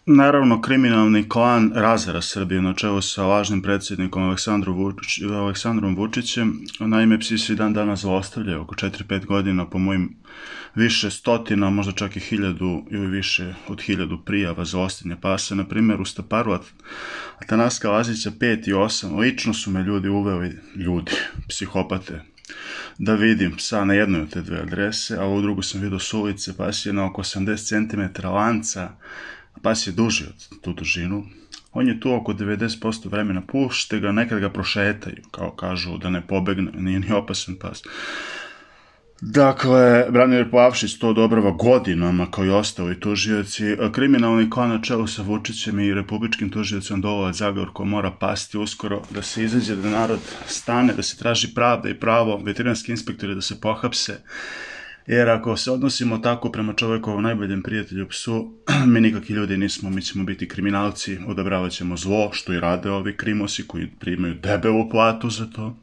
Naravno, kriminalni klan razara Srbiju na čelu sa lažnim predsjednikom Aleksandrom Vučićem. Naime, psi se dan danas zlostavljaju oko 4-5 godina, po mojim više stotina, možda čak i 1000 ili više od 1000 prijava zlostavljanja pasa. Na primjer, u Staparu Atanaska Lazića 5 i 8, lično su me ljudi uveli, psihopate, da vidim psa na jednoj od te dve adrese, a u drugu sam vidio s ulice. Pas je na oko 80 cm lanca, a pas je duži od tu dužinu. On je tu oko 90% vremena, pušte ga, nekad ga prošetaju, kao kažu da ne pobegne, nije ni opasan pas. Dakle, Branimir Plavšić to odobrava godinama, kao i ostali tužioci. Kriminalni klan na čelu sa Vučićem i republičkim tužiocem Dolovac Zagorko mora pasti uskoro, da se izađe, da narod stane, da se traži pravda i pravo, veterinarski inspektori da se pohapse. Jer ako se odnosimo tako prema čovekovom najboljem prijatelju psu, mi nikakvi ljudi nismo, mi ćemo biti kriminalci, odobravat ćemo zlo, što i rade ovi krimosi koji primaju debelu platu za to.